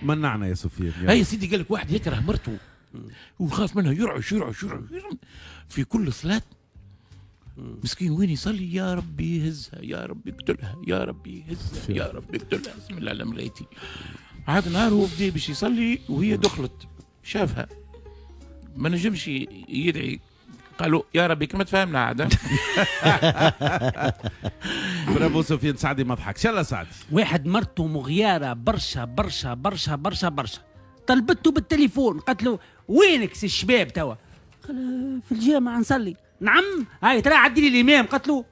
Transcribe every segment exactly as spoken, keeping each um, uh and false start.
منعنا يا سفيان. هاي سيدي قال لك واحد يكره مرته وخاف منها، يرعش يرعش يرعش في كل صلاة. مسكين وين يصلي؟ يا ربي هزها، يا ربي اقتلها، يا ربي هزها، يا ربي اقتلها، بسم الله على ملايتي. عاد نهار هو بدا باش يصلي وهي دخلت شافها ما نجمش يدعي، قالوا يا ربي كما تفهمنا عاد. برافو سفيان سعدي ما ضحكش. يلا سعدي. واحد مرته مغياره برشا برشا برشا برشا برشا، طلبته بالتليفون قالت له وينك سي الشباب توا؟ قال في الجامع نصلي. نعم هاي ترى عدي لي الامام. قالت له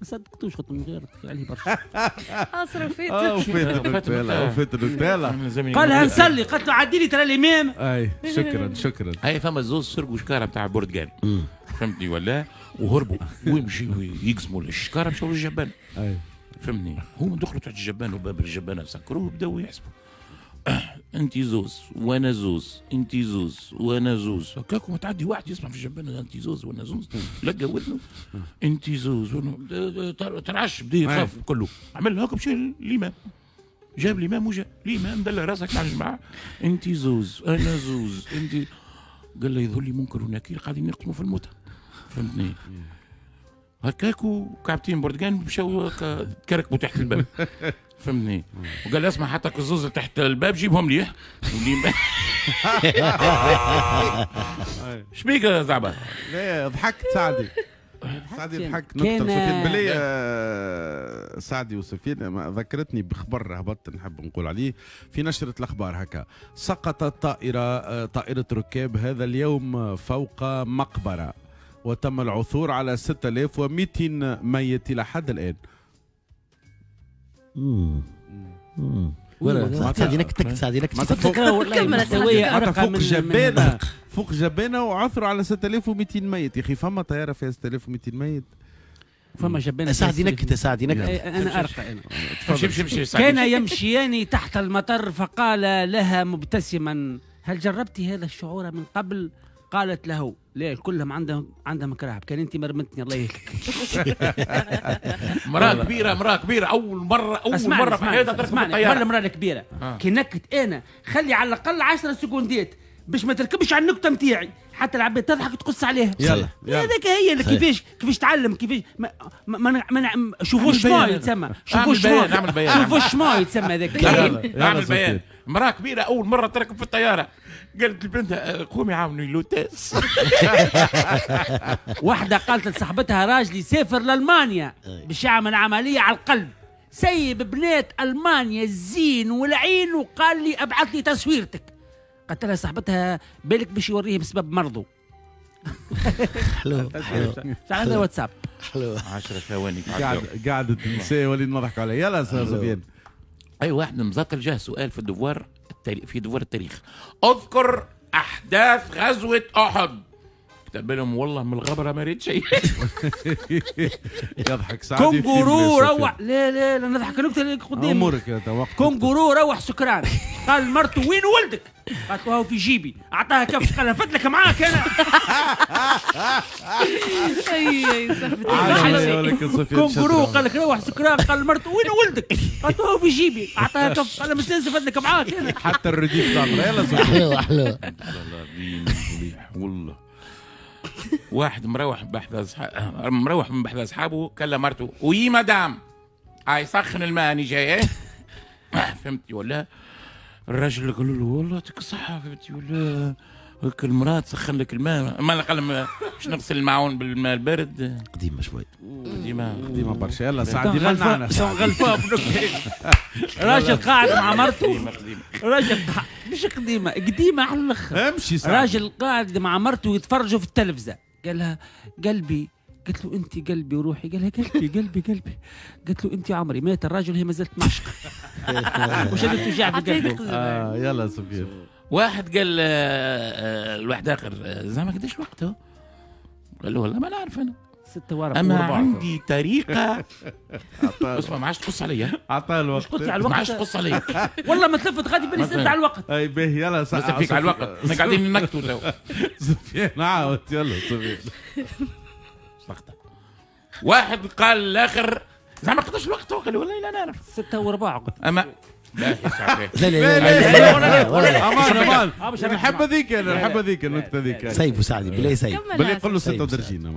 ما صدقتوش، قلت له مغيرة عليه برشا. اصرفيت وفيت وفيت الرسالة. قالها نصلي، قالت له عدي لي ترى الامام. اي شكرا شكرا. هاي فما زوز سرقوا شكاره نتاع برتقال، فهمتني ولا؟ وهربوا ويمشيوا يقسموا الشكاره، مشاو للجبان. اي فهمتني؟ هما دخلوا تحت الجبان وباب الجبانه سكروه وبداوا يحسبوا. انت زوز وانا زوز، انت زوز وانا زوز، هكاك وتعدي واحد يسمع في الجبانه انت زوز وانا زوز، لقى ودنه انت زوز وانا ترعش، بدا يخاف كله. عمل هكا مشى الامام، جاب الامام وجا الامام دل راسك مع الجماعة، انت زوز انا زوز انت. قال له يظهر لي منكر ونكير قاعدين يقسموا في الموتى، فهمتني؟ هكاك وكعبتين برتقان مشاو تكركبوا تحت الباب، فهمتني؟ وقال لي اسمع حتى الزوز تحت الباب جيبهم لي. شبيك يا زعبه؟ لا ضحكت سعدي. سعدي ضحك نكتة سفيان بلي. سعدي وسفيان ذكرتني بخبر هبطت نحب نقول عليه في نشرة الأخبار. هكا سقطت طائرة طائرة ركاب هذا اليوم فوق مقبرة وتم العثور على ستة آلاف ومئتين ميت إلى حد الآن. امم ولا سعدي نكتك سعدي نكتك فوق جبانه، فوق جبانه وعثروا على ستة آلاف ومئتين ميت. يا اخي فما طيارة فيها ستة آلاف ومئتين ميت؟ فما جبانه. سعدي نكتة سعدي نكتة. انا ارقى انا. كان يمشيان تحت المطر فقال لها مبتسما هل جربتي هذا الشعور من قبل؟ قالت له لا كلهم عندهم عندهم كراهب، كان انت مرمتني الله يهلك. مراة كبيرة، مراة كبيرة اول مرة اول مرة في حياتها تركب الطيارة. قبل المراة الكبيرة آه. كي نكت انا خلي على الاقل عشرة سكوندات باش ما تركبش على النكتة نتاعي حتى العباد تضحك وتقص عليها. يلا هذاك هي كيفاش كيفاش تعلم كيفاش ما ما ما شوفوا شما يتسمى، شوفوا شما شوفوا شما يتسمى هذاك. اعمل بيان. مراة كبيرة اول مرة تركب في الطيارة قالت لبنتها قومي عاوني l'hôtesse. واحدة قالت لصاحبتها راجلي سافر لالمانيا باش يعمل عملية على القلب، سيب بنات المانيا الزين والعين وقال لي ابعث لي تصويرتك. قالت لها صاحبتها بالك باش يوريه بسبب مرضه. حلو حلو. عندنا واتساب. حلو. عشرة ثواني قاعد قاعدة النساء ولي نضحك عليها. يلا سفيان. اي واحد مزطل جاه سؤال في ال devoir التاريخ، في devoir التاريخ، اذكر احداث غزوة احد. كتب لهم والله من الغبرة ما ريت شيء. يضحك سعدي. كونغورو روح. لا لا لا نضحك نكتة اللي قدامي. امورك يا توقف. كونغورو روح سكران، قال مرته وين ولدك؟ قالت له هو في جيبي، اعطاها كف قال لها فتلك معاك انا. اي اي كونغورو قال لك روح سكران، قال مرته وين ولدك؟ قالت له هو في جيبي، اعطاها كف قال لها مستانسه فتلك معاك انا. حتى الرديف تاع يلا حلو حلو. والله واحد مروح بحذا صح... مروح من بحذا اصحابه كلم مرته oui madame هاي سخن الماء اني جاي. ايه فهمتي ولا؟ الراجل قال له والله يعطيك الصحة فهمتي ولا؟ هيك المرأة تسخن لك الماء، ما قال باش نغسل المعون بالماء البارد. قديمة شوي. قديمة قديمة برشا. يلا سعدي منعنا. غلفوها راجل قاعد مع مرته. راجل مش قديمة، قديمة على الآخر. امشي سعدي. راجل قاعد مع مرته يتفرجوا في التلفزة، قال لها قلبي، قالت له انت قلبي وروحي، قال لها قلبي قلبي قلبي، قالت له انت عمري. مات الراجل هي ما زالت معشقه. وشدت وجع في قلبه. آه يلا سفيان. واحد قال الواحد اخر زعما قداش الوقت هو؟ قال له والله ما نعرف انا. ستة وربع. اما عندي طريقه. اسمع ما عادش تقص عليا. عطاه الوقت. قلت على الوقت. ما عادش تقص عليا. والله ما تلفت غادي بالي سالت على الوقت. اي باهي يلا سالت فيك على الوقت، احنا قاعدين ننكتوا تو. سفيان عاود يلا سفيان. واحد قال الاخر زعما قداش الوقت؟ قال له والله لا نعرف. ستة وربع. اما لا لا لا لا امان امان نحب هذيك، انا نحب هذيك النكتة هذيك. سيف وسعدي بالله سيف بالله قول له ستة ودرجين.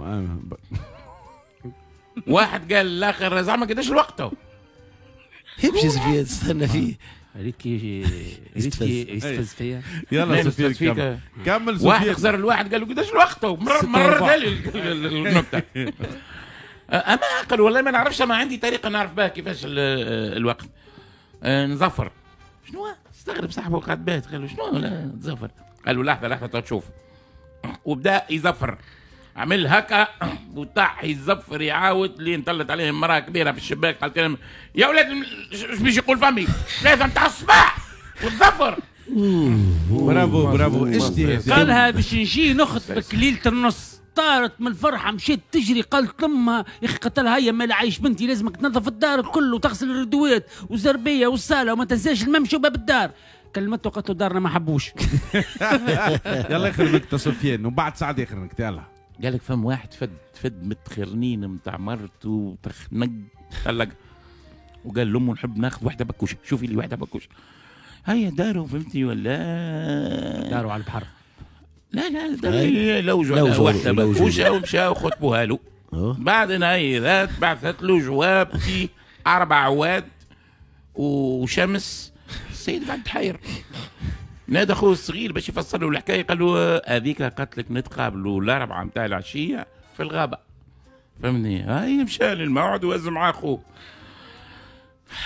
واحد قال الاخر زعما قداش الوقت تو؟ يمشي سفيان تستنى فيه. ريت كي ريت كي يستفز فيا. يلا سفيان كمل. واحد خزر الواحد قال له قداش الوقت تو؟ مررتها لي النكتة. اما عقل والله ما نعرفش، ما عندي طريقه نعرف بها كيفاش الوقت. نزفر. شنو؟ استغرب صاحبه قعد بات، قال له شنو لا تزفر؟ قال له لحظة لحظة تشوف. وبدا يزفر، عمل هكا وطاح يزفر يعاود لين طلت عليه امراة كبيرة في الشباك قالت لهم يا ولاد اش باش يقول فمي ثلاثة نتاع الصباح وتزفر. برافو برافو. اجتهاد. قالها باش نجي نخطبك ليلة النص. طارت من الفرحة مشيت تجري قالت لامها يا اخي قتلها هيا ما عايش بنتي لازمك تنظف الدار الكل وتغسل الردوات والزربيه والصاله وما تنساش الممشي وباب الدار. كلمته قالت له دارنا ما حبوش. يلا اخر نكتة سفيان ومن بعد سعد اخر نكتة. يلا. قال لك فم واحد فد فد متخرنين نتاع مرته وتخنق طلق وقال لامه نحب ناخذ واحدة بكوشة، شوفي لي واحدة بكوشة. هيا داروا فهمتي ولا؟ داروا على البحر. لا لا داروا لوجوا واحدة بكوشة ومشاو خطبوها له. بعد نهاية بعثت له جواب فيه اربع عواد وشمس. السيد قعد حير. نادى اخوه الصغير باش يفسر له الحكاية، قال له هذيك قالت لك نتقابلوا الاربعة نتاع العشية في الغابة. فهمني؟ هاي مشى للموعد وهز معاه اخوه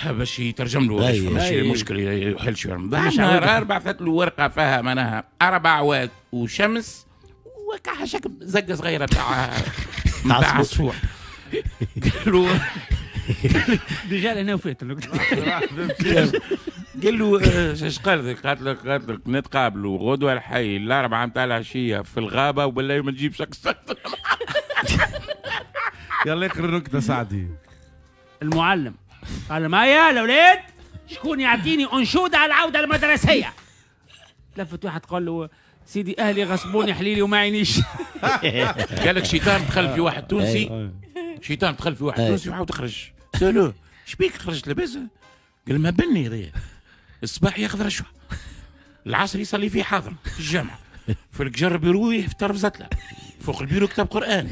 باش يترجم له باش ماشي المشكل يحل شوية. نهار بعثت له ورقة فيها معناها اربع عواد وشمس وكحشك زقه صغيرة تاع نتاع عصفور. قال له déjà انا وفيت النكتة. قال له اش قال لك؟ قالت لك قالت لك نتقابلوا غدوه الحي الاربعة نتاع العشية في الغابة وبالله ما تجيبش اكثر. يلا اخر نكتة سعدي. المعلم قال لهم هيا الاولاد شكون يعطيني انشودة على العودة المدرسية؟ لفت واحد قال له سيدي اهلي غصبوني حليلي وما عينيش. قال لك شيطان دخل في واحد تونسي، شيطان دخل في واحد تونسي وعاود خرج. سالوه شبيك خرجت لاباس؟ قال ما بني هذايا الصباح ياخذ رشوة، العصر يصلي فيه حاضر في الجامعة، في الجر بيروه في طرف زتله، فوق البيرو كتاب قران،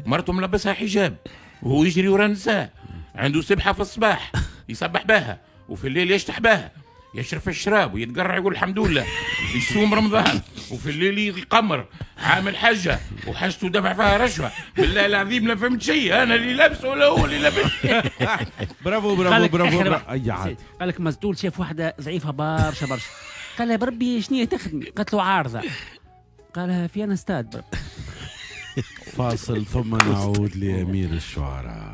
مرته ملبسها حجاب وهو يجري ورا النساء، عنده سبحه في الصباح يسبح بها وفي الليل يشتح بها، يشرب في الشراب ويتقرع يقول الحمد لله، يصوم رمضان وفي الليل يقمر، عامل حجه وحاجته دفع فيها رشوة، بالله العظيم لا فهمت شيء، انا اللي لابسه ولا هو اللي لابس. برافو برافو برافو. اي عاد قال لك مسدول شاف واحدة ضعيفة برشا برشا، قال لها بربي شنو تخدمي؟ قالت له عارضه. قالها في انا استاد. فاصل ثم نعود لامير الشعراء.